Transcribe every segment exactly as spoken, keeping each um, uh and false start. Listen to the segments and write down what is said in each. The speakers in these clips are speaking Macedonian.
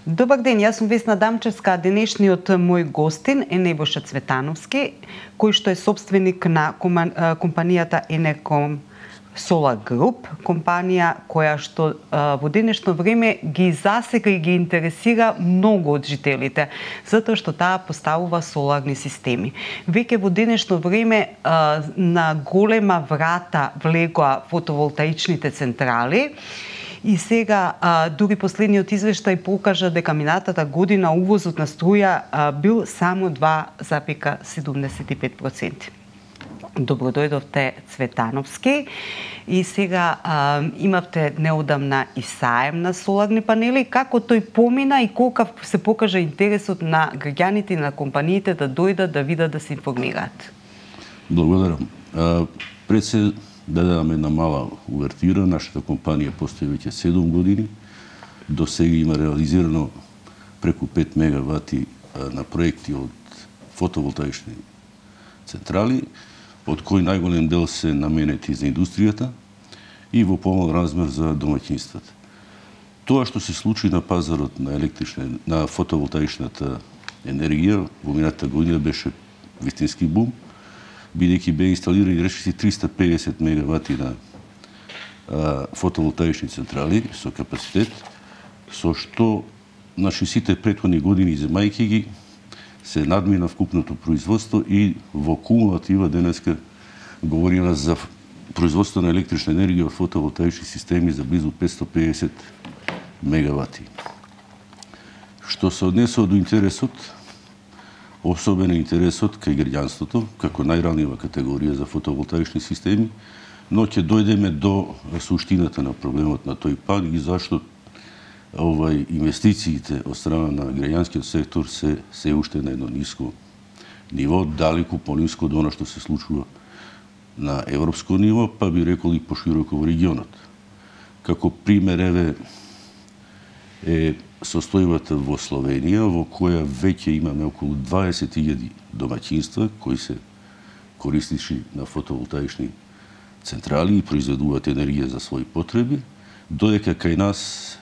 Добар ден, јас сум Весна Дамчевска, а денешниот мој гостин е Небоша Цветановски, кој што е собственик на компанијата Енерком Solar Group, компанија која што во денешно време ги засека и ги интересира многу од жителите, затоа што таа поставува соларни системи. Веќе во денешно време на голема врата влегоа фотоволтаичните централи. И сега, а, дури последниот извештај покажа дека минатата година увозот на струја а, бил само два запира седумдесет и пет проценти. Добро дојдовте, Цветановски. И сега а, имавте неодамна и саем на соларни панели. Како тој помина и колкав се покажа интересот на граѓаните и на компаниите да дојдат да видат, да се информираат? Благодарам. А, пред се да дадам една мала увертира. Нашата компанија постои веќе седум години. До сега има реализирано преку пет мегавати на проекти од фотоволтаични централи, од кои најголем дел се наменети за индустријата и во помал размер за домаќинствата. Тоа што се случи на пазарот на електрична, на фотоволтаичната енергија во минатата година беше вистински бум, бидејќи беа инсталирани речиси триста и педесет мегавати на а, фотоволтаични централи со капацитет, со што значи сите претходни години земајќи ги се надмина вкупното производство и во кумулатива денеска говориме за производство на електрична енергија од фотоволтаични системи за близу петстотини и педесет мегавати. Што се однесува до интересот, особено интересот кај граѓанството, како најранлива категорија за фотоволтаични системи, но ќе дојдеме до суштината на проблемот на тој пак и зашто овај инвестициите од страна на граѓанскиот сектор се се уште на едно ниско ниво, далеку пониско од она што се случува на европско ниво, па би рекол и пошироко во регионот. Како пример еве е состојбата во Словенија, во која веќе имаме околу дваесет илјади домаќинства кои се користичи на фотоволтаични централи и произведуваат енергија за своји потреби, додека кај нас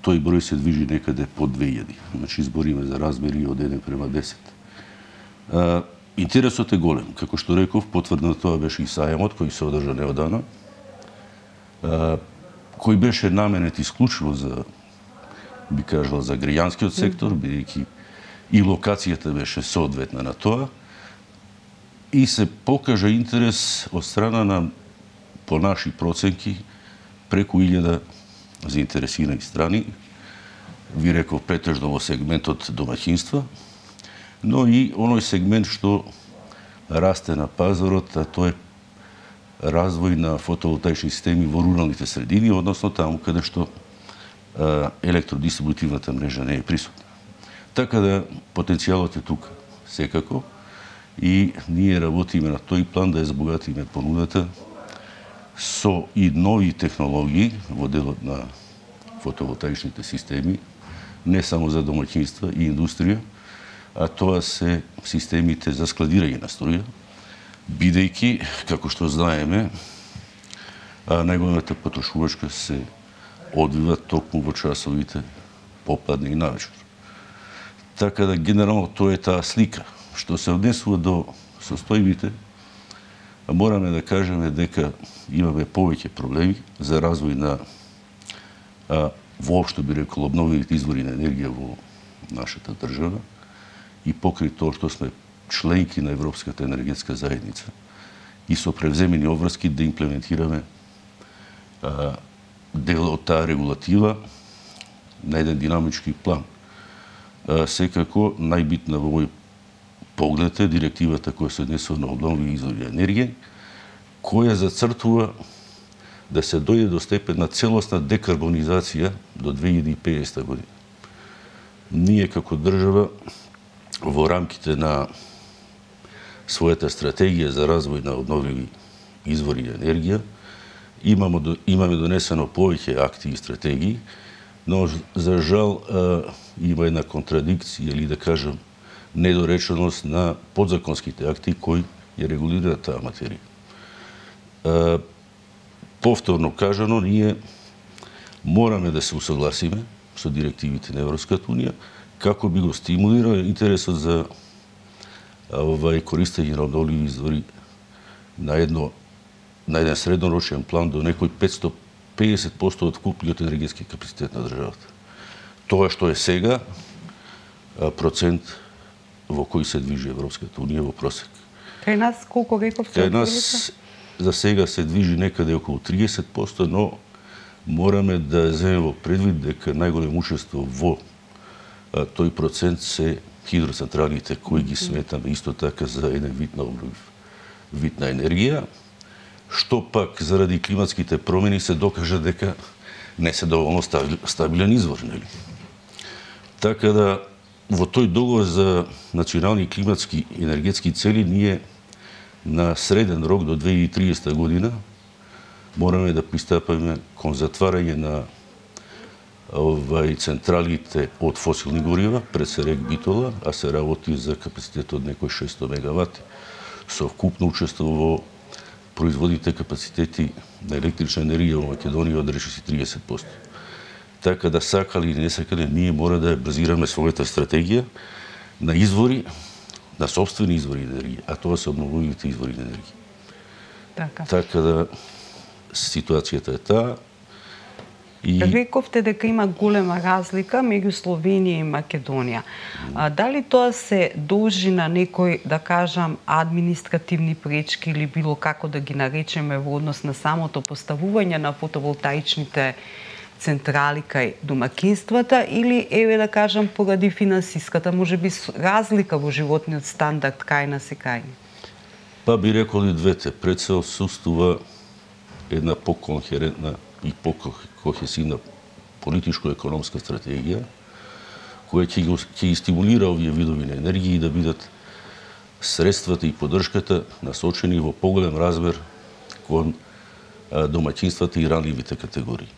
тој број се движи некаде под две илјади. Значи збориме за размери од еден према десет. А, интересот е голем. Како што реков, потврдно тоа беше и саемот кој се одржа неодамна, а, кој беше наменет исклучиво за би кажал за граѓанскиот сектор, бидејќи и локацијата беше соодветна на тоа, и се покажа интерес од страна на, по наши проценки, преку илјада заинтересирани страни, ви реков претежно во сегментот домаќинства, но и оној сегмент што расте на пазарот, а тоа е развој на фотоволтаични системи во руралните средини, односно таму каде што електродистрибутивната мрежа не е присутна. Така да потенцијалот е тука, секако, и ние работиме на тој план да ја збогатиме понудата со и нови технологии во делот на фотоволтаичните системи, не само за домаќинства и индустрија, а тоа се системите за складирање на струја, бидејќи, како што знаеме, најголемата потрошувачка се одвива токму во часовите попладне и навечер. Така да генерално тоа е таа слика. Што се однесува до состојбите, мораме да кажеме дека имаме повеќе проблеми за развој на а, воопшто би рекол обновливите извори на енергија во нашата држава и покрај тоа што сме членки на Европската енергетска заедница и со превземени обврски да имплементираме а, дел од таа регулатива на еден динамички план. Секако, најбитна во мој поглед е директивата која се однесува на обновливи извори енергија, која зацртува да се дојде до степен на целосна декарбонизација до две илјади и педесета година. Ние како држава во рамките на својата стратегија за развој на обновливи извори енергија Имаме, имаме донесено повеќе акти и стратегии, но за жал има една контрадикција или да кажам недореченост на подзаконските акти кои ја регулираат таа материја. Повторно кажано, ние мораме да се усогласиме со директивите на Европската унија, како би го стимулирал интересот за овај користење на обновливи извори на едно на еден среднорочен план до некој петстотини и педесет проценти од вкупниот енергетски капацитет на државата. Тоа што е сега процент во кој се движи Европската унија во просек. Кај нас колку рековте? Кај нас за сега се движи некаде околу триесет проценти, но мораме да земеме во предвид дека најголемо учество во а, тој процент се хидроцентралите кои ги сметаме исто така за еден вид на обновив вид на енергија, што пак заради климатските промени се докажа дека не се доволно стабилен извор, нели? Така да во тој договор за национални климатски енергетски цели ние на среден рок до две илјади и триесета година мораме да пристапаме кон затварање на овај централите од фосилни горива, пред се рек Битола, а се работи за капацитет од некој шестост мегавати, со вкупно учество во производните капацитети на електрична енергија во Македонија од речиси триесет проценти. Така да сакали или не сакали, ние мора да базираме својата стратегија на извори, на собствени извори енергија, а тоа се обновливите извори енергија. Така. Така да ситуацијата е таа. И... Рековте дека има голема разлика меѓу Словенија и Македонија. А, дали тоа се должи на некој, да кажам, административни пречки или било како да ги наречеме во однос на самото поставување на фотоволтаичните централи кај домакинствата, или еве да кажам поради финансиската можеби разлика во животниот стандард кај нас и кај ни? Па би рекол и двете. Пред се отсуствува една поконхерентна и покохесивна политичко-економска стратегија, која ќе ги стимулира овие видови на енергија и да бидат средствата и поддршката насочени во поголем размер кон домаќинствата и ранливите категории.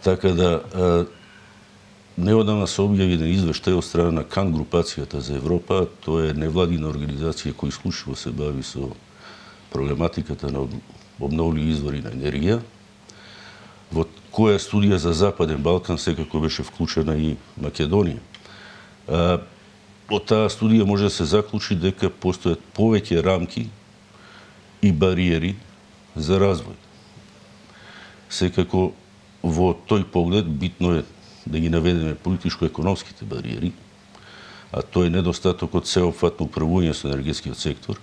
Така да неодамна се објави еден извештај од страна на Кан групацијата за Европа, тоа е невладина организација која исклучиво се бави со проблематиката на обновливи извори на енергија, во која студија за Западен Балкан секако беше вклучена и Македонија. Од таа студија може да се заклучи дека постојат повеќе рамки и бариери за развој. Секако во тој поглед битно е да ги наведеме политичко-економските бариери, а тоа е недостатокот сеопфатно управување со енергетскиот сектор,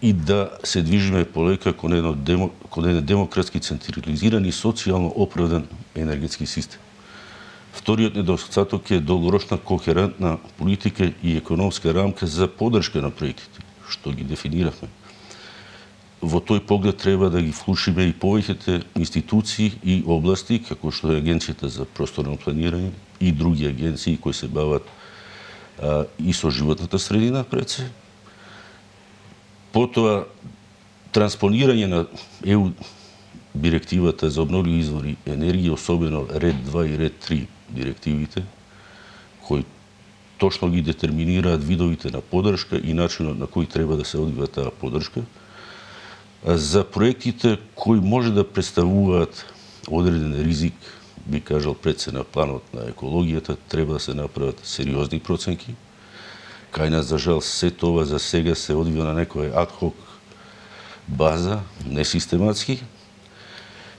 и да се движиме полека кон еден, демо, кон еден демократски, централизиран и социјално оправдан енергетски систем. Вториот недостаток е долгорочна кохерентна политика и економска рамка за поддршка на проектите, што ги дефиниравме. Во тој поглед треба да ги вклучиме и повеќите институции и области, како што е Агенцијата за просторно планирање и други агенции кои се бават а, и со животната средина пред се. Потоа, транспонирање на Е У директивата за обновливи извори енергија, особено ред два и ред три директивите, кои точно ги детерминираат видовите на поддршка и начинот на кој треба да се одвива таа поддршка. За проектите кои може да представуваат одреден ризик, би кажал пред се на планот на екологијата, треба да се направат сериозни проценки. Кај нас, за жал, се тоа за сега се одвива на некоја адхок база, несистематски,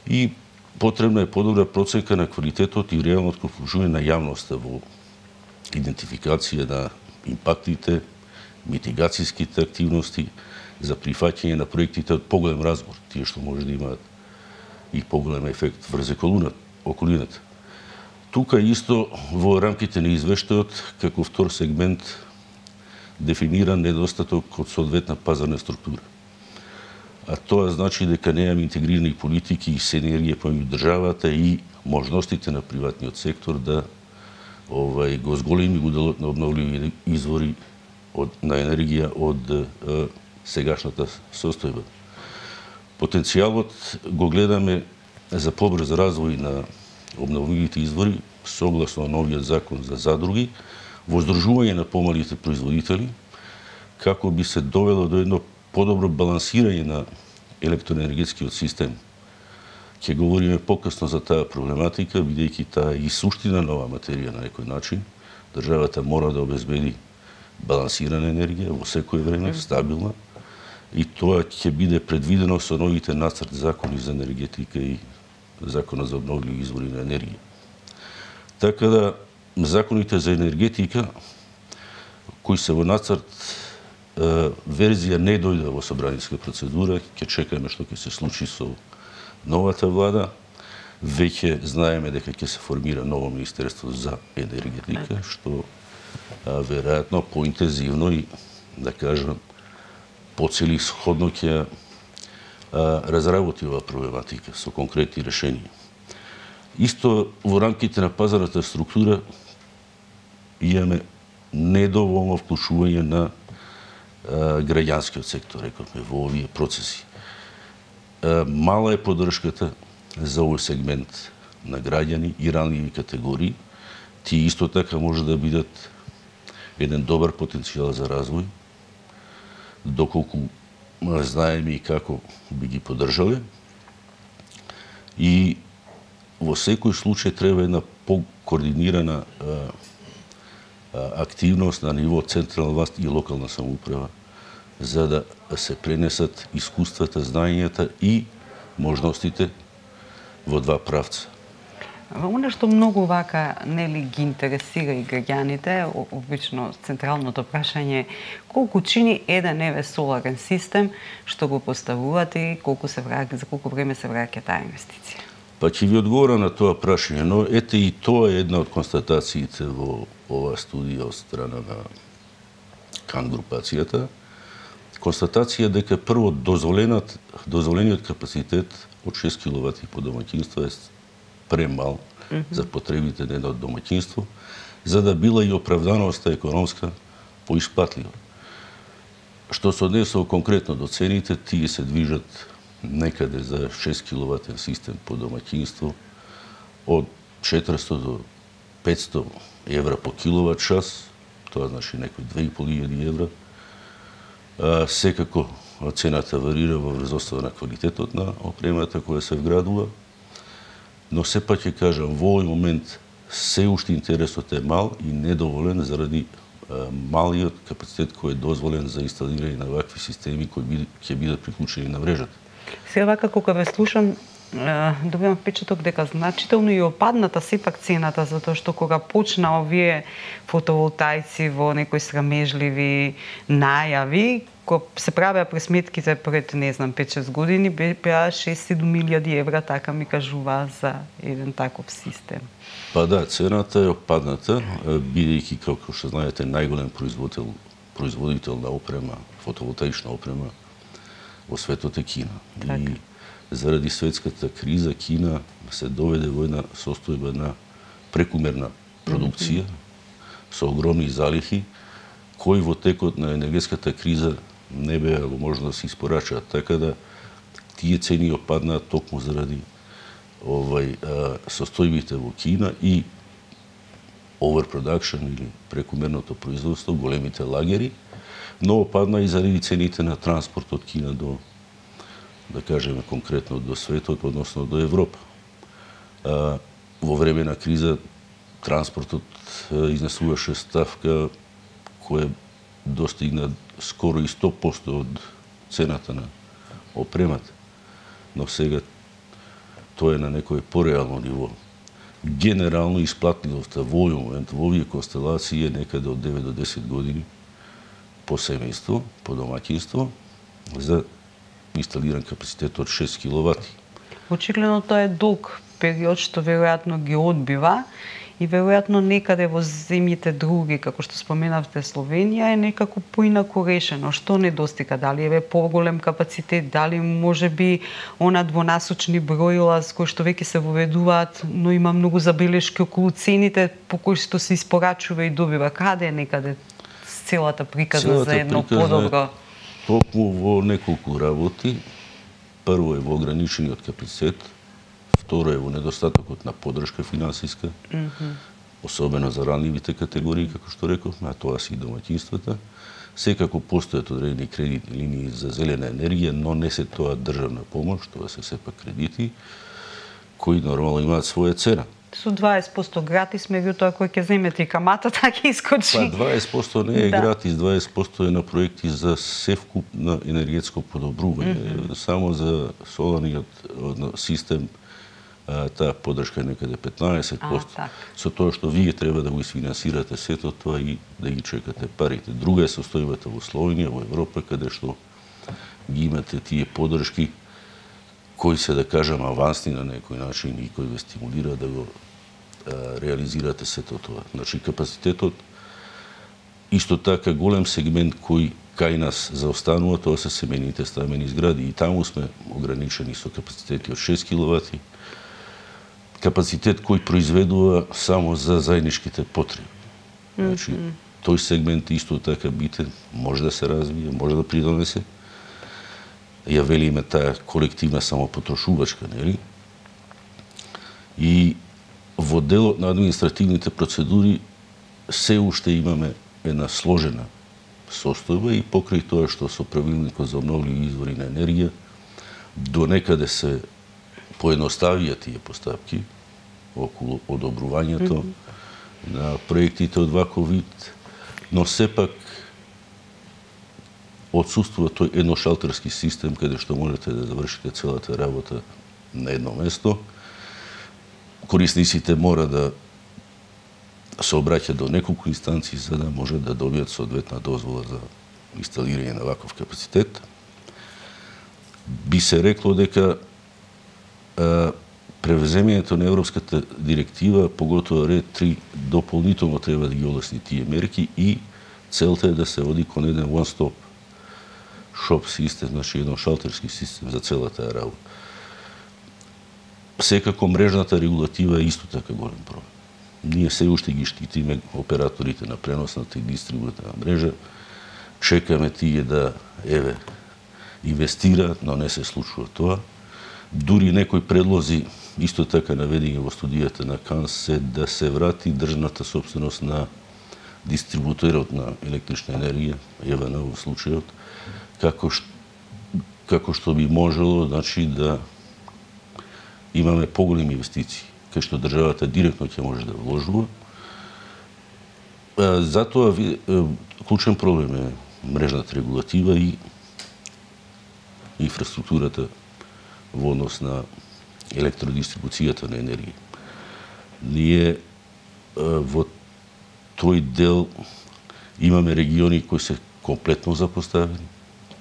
и потребна е подобра проценка на квалитетот и реалното вклучување на јавноста во идентификација на импактите, митигацијските активности за прифаќање на проектите од поголем разбор, тие што може да имаат и поголем ефект врз околината. Тука исто во рамките на извештајот како втор сегмент дефиниран недостаток од соодветна пазарна структура. А тоа значи дека немаме интегрирани политики и синергија помеѓу државата и можностите на приватниот сектор да овај го зголеми уделот на обновливи извори од, на енергија од е, сегашната состојба. Потенцијалот го гледаме за побрз развој на обновливите извори согласно новиот закон за задруги, воздржување на помалите производители, како би се довело до едно подобро балансирање на електроенергетскиот систем Ќе говориме покасно за таа проблематика, бидејќи таа и суштина нова материја на некој начин. Државата мора да обезбеди балансирана енергија во секој време, стабилна, и тоа ќе биде предвидено со новите нацрт закони за енергетика и закона за обновливи извори на енергија. Така да, законите за енергетика, кои се во нацрт, верзија не дојде во собраниска процедура, ќе чекаме што ќе се случи со новата влада. Веќе знаеме дека ќе се формира ново Министерство за енергетика, што а, веројатно поинтензивно и, да кажам, поцелисходно ќе разработи оваа проблематика со конкретни решенија. Исто во рамките на пазарната структура имаме недоволно вклучување на а, граѓанскиот сектор, рековме, во овие процеси. А, мала е поддршката за овој сегмент на граѓани и ранливи категории. Тие исто така може да бидат еден добар потенцијал за развој, доколку знаеме и како би ги поддржале. И во секој случај треба една покоординирана активност на ниво централна власт и локална самоуправа, за да се пренесат искуствата, знаењата и можностите во два правца. Оно што многу вака нели ги интересира и граѓаните, обично централното прашање е колку чини еден еве соларен систем што го поставувате и колку се враќа, за колку време се враќа таа инвестиција. Па ќе ви одговорам на тоа прашање, но ете и тоа е една од констатациите во оваа студија од страна на Кан групацијата. Констатација дека прво дозволенат дозволениот капацитет од шест киловати по домаќинство е премал mm -hmm. за потребите на едно домаќинство, за да била и оправданоста економска поисплатлива. Што се однесува конкретно до цените, тие се движат некаде за шест киловатен систем по домаќинство од четиристо до петсто евра по киловат час, тоа значи некои две и пол илјади евра. А, секако цената варира во врзостава на квалитетот на опремата која се вградува, но сепак ќе кажам, во овој момент се уште интересот е мал и недоволен заради а, малиот капацитет кој е дозволен за инсталирање на вакви системи кои ќе бидат приклучени на мрежата. Сега вака кога ве слушам, добивам впечаток дека значително и опадната сепак цената, затоа што кога почна овие фотоволтаици во некои срамежливи најави, кога се правеа пресметките пред, не знам, пет-шест години, беа шест-седум илјади евра, така ми кажува за еден таков систем. Па да, цената е опадната, бидејќи, како што знаете, најголем производител, производител на опрема, фотоволтаична опрема во светот е Кина. Так. И заради светската криза Кина се доведе во една состојба на прекумерна продукција, mm -hmm. со огромни залихи, кои во текот на енергетската криза не беа можно да се испорачаат. Така да тие цени опаднаат токму заради овај а, состојбите во Кина и overproduction или прекумерното производство, големите лагери, но опадна и заради цените на транспорт од Кина до, да кажеме конкретно, до светот, односно до Европа. А, во време на криза транспортот а, изнесуваше ставка која достигна скоро и сто посто од цената на опремата. Но сега тоа е на некој пореално ниво. Генерално исплатливоста во овој момент во овие констелации е некаде од девет до десет години по семејство, по домаќинство, за инсталиран капацитет од шест киловати. Очигледно тоа е долг период што веројатно ги одбива и веројатно некаде во земјите други, како што споменавте Словенија, е некако поинаку решено. Што недостига? Дали е поголем капацитет, дали може би она двонасочни броила кои што веќе се воведуваат, но има многу забелешки околу цените по кои што се испорачува и добива. Каде е некаде целата приказна целата за едно подобро? Токму во неколку работи. Прво е во ограничениот капацитет, второ е во недостатокот на поддршка финансиска, mm -hmm. особено за ранливите категории, како што рековме, а тоа се и домаќинствата. Секако постојат одредени кредитни линии за зелена енергија, но не се тоа државна помош, тоа се сепак кредити. кои нормално имаат своја цена. Со дваесет проценти гратис, меѓутоа кој ќе земете и камата, така искочи. Па дваесет проценти не е да. гратис, дваесет проценти е на проекти за севкуп на енергетско подобрување. Mm -hmm. Само за соларниот систем таа поддршка е некаде петнаесет проценти. А, со тоа што вие треба да го isfinansирате сето тоа и да ги чекате парите. Друга е состојбата во Словенија, во Европа, каде што ги имате тие поддршки кои се, да кажам, авансни на некој начин и кои ве стимулира да го а, реализирате сето тоа. Значи, капацитетот, исто така голем сегмент кој кај нас заостанува, тоа се семените стамени згради. И таму сме ограничени со капацитети од шест киловати, капацитет кој произведува само за заедничките потреби. Значи, mm-hmm. тој сегмент исто така битен, може да се развие, може да придонесе. Ја велиме таа колективна самопотрошувачка, нели? И во делот на административните процедури се уште имаме една сложена состојба и покрај тоа што со правилникот за обновливи извори на енергија до некаде се поедноставија тие постапки околу одобрувањето mm -hmm. на проектите од ваков вид, но сепак отсуствува тој едношалтерски систем каде што можете да завршите целата работа на едно место. Корисниците мора да се обраќаат до неколку инстанции за да може да добијат соодветна дозвола за инсталирање на ваков капацитет. Би се рекло дека а, превземањето на Европската директива, поготоа ред три, дополнително треба да ги олесни тие мерки и целта е да се оди кон еден one-stop shop систем, значи еден шалтерски систем за целата работа. Секако мрежната регулатива е исто така голем проблем. Ние се уште ги штитиме операторите на преносната и дистрибутивна мрежа, чекаме тие да, еве, инвестираат, но не се случува тоа. Дури некои предлози, исто така наведени во студијата на КАНС, се да се врати државната собственост на дистрибутерот на електрична енергија, ЕВН во случајот, како што, како што би можело, значи, да имаме поголеми инвестиции, кај што државата директно ќе може да вложува. Затоа клучен проблем е мрежната регулатива и инфраструктурата во однос на електродистрибуцијата на енергија. Ние во тој дел имаме региони кои се комплетно запоставени,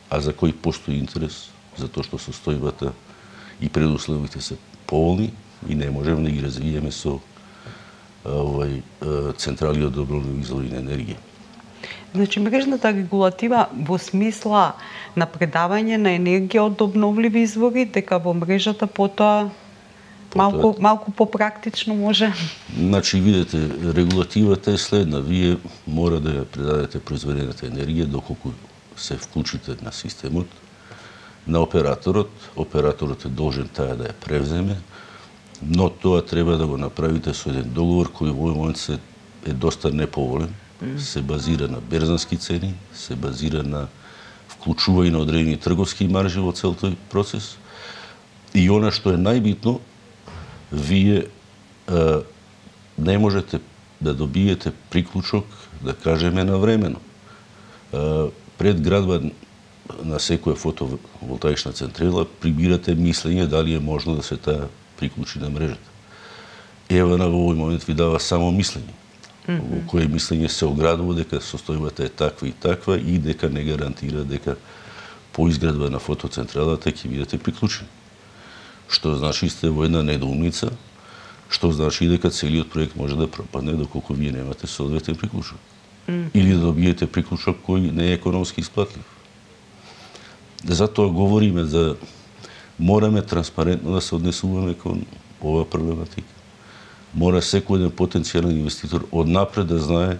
а за кои постои интерес, затоа што состојбата и предусловите се поволни и не можеме да ги развиеме со овај централи од обновливи извори на енергија. Значи, мрежната регулатива во смисла на предавање на енергија од обновливи извори, дека во мрежата потоа малку, малку попрактично може? Значи, видете, регулативата е следна. Вие мора да ја предадете произведената енергија доколку се вклучите на системот, на операторот. Операторот е должен таа да ја превземе, но тоа треба да го направите со еден договор кој во овој момент се е доста неповолен, се базира на берзански цени, се базира на вклучување на одредени трговски маржи во цел тој процес. И она што е најбитно, вие а, не можете да добиете приклучок, да кажеме, навремено. А, пред градба на секоја фотоволтаична централа прибирате мислење дали е можно да се таа приклучи на мрежата. ЕВН во овој момент ви дава само мислење, mm -hmm. во кое мислење се оградува дека состојбата е таква и таква и дека не гарантира дека по изградба на фотоцентралата ќе бидете приклучени. Што значи сте во една недоумница, што значи дека целиот проект може да пропадне доколку вие немате соодветен приклучок. Mm -hmm. Или да добиете приклучок кој не е економски исплатлив. Затоа говориме за мораме транспарентно да се однесуваме кон оваа проблематика. Мора секој еден потенцијален инвеститор однапред да знае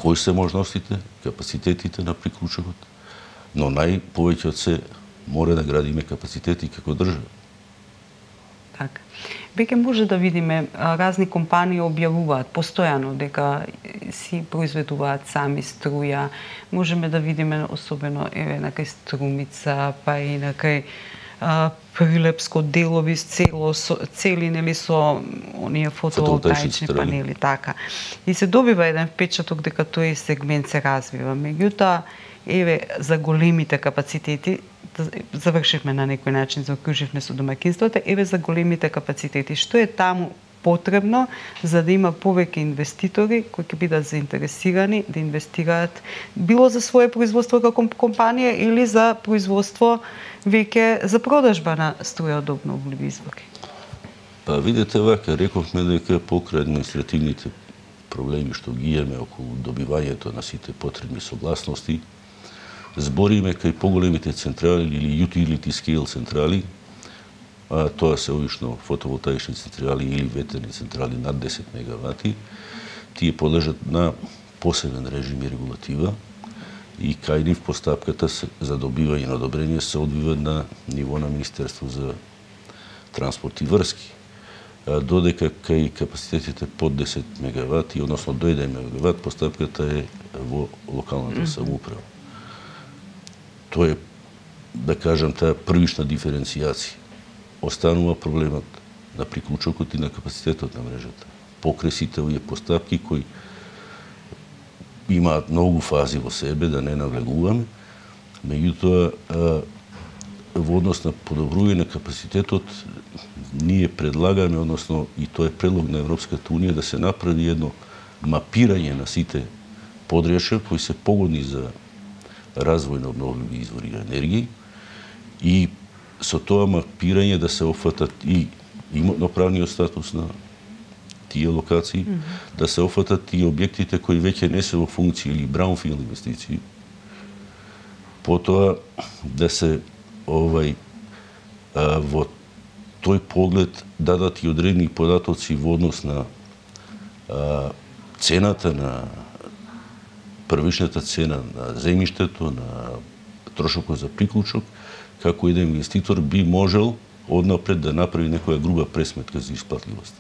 кои се можностите, капацитетите на приклучокот, но најповеќе од се мора да градиме капацитети како држава. Така. Веќе може да видиме разни компании објавуваат постојано дека си произведуваат сами струја. Можеме да видиме особено еве на кај Струмица, па и на кај Прилепско, Делови, цело, со, цели нели со оние фотоволтаични панели, така. И се добива еден впечаток дека тој сегмент се развива. Меѓутоа, еве за големите капацитети, завршивме на некој начин, заокруживме со домаќинствата, еве за големите капацитети, што е таму потребно за да има повеќе инвеститори кои ќе бидат заинтересирани да инвестираат било за свое производство како компанија или за производство веќе за продажба на струја од обновливи извори. Па видете вака, рековме дека покрај административните проблеми што ги имаме околу добивањето на сите потребни согласности, збориме кај поголемите централи или utility scale централи, а тоа се обично фотоволтаични централи или ветерни централи над десет мегавати, тие подлежат на посебен режим и регулатива и кај нив постапката за добивање на одобрение се одвива на ниво на Министерство за транспорт и врски. Додека кај капацитетите под десет мегавати, односно до еден мегават, постапката е во локалната самоуправа. Тоа е, да кажам, таа првична диференцијација. Останува проблемот на приклучокот и на капацитетот на мрежата. Покрај сите овие постапки кои имаат многу фази во себе, да не навлегуваме, меѓутоа во однос на подобрување на капацитетот ние предлагаме, односно и тоа е предлог на Европската унија, да се направи едно мапирање на сите подречја кои се погодни за развој на обновливи извори на енергија и со тоа мапирање да се опфатат и имотно-правниот статус на тие локации, mm -hmm. да се опфатат и објектите кои веќе не се во функција или браунфилд инвестиции. Потоа да се овај а, во тој поглед дадат и одредени податоци во однос на а, цената на првичната цена на земјиштето, на трошокот за приклучок, како еден инвеститор би можел однапред да направи некоја груба пресметка за исплатливост.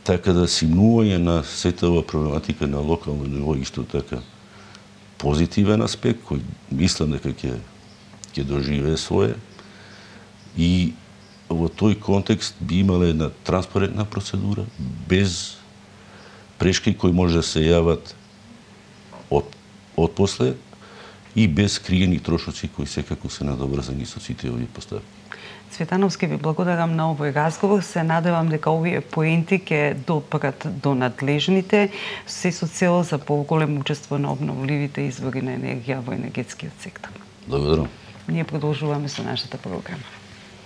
Така да симнување на сета ова проблематика на локално ниво исто така позитивен аспект кој мислам дека ќе ќе доживее свое и во тој контекст би имала една транспарентна процедура без прешки кои може да се јават од од после и без криени трошоци кои секако се надобрзани со сите овие постапки. Цветановски, ви благодарам на овој разговор. Се надевам дека овие поенти ќе допрат до надлежните, се со цел за поголемо учество на обновливите извори на енергија во енергетскиот сектор. Благодарам. Ние продолжуваме со нашата програма.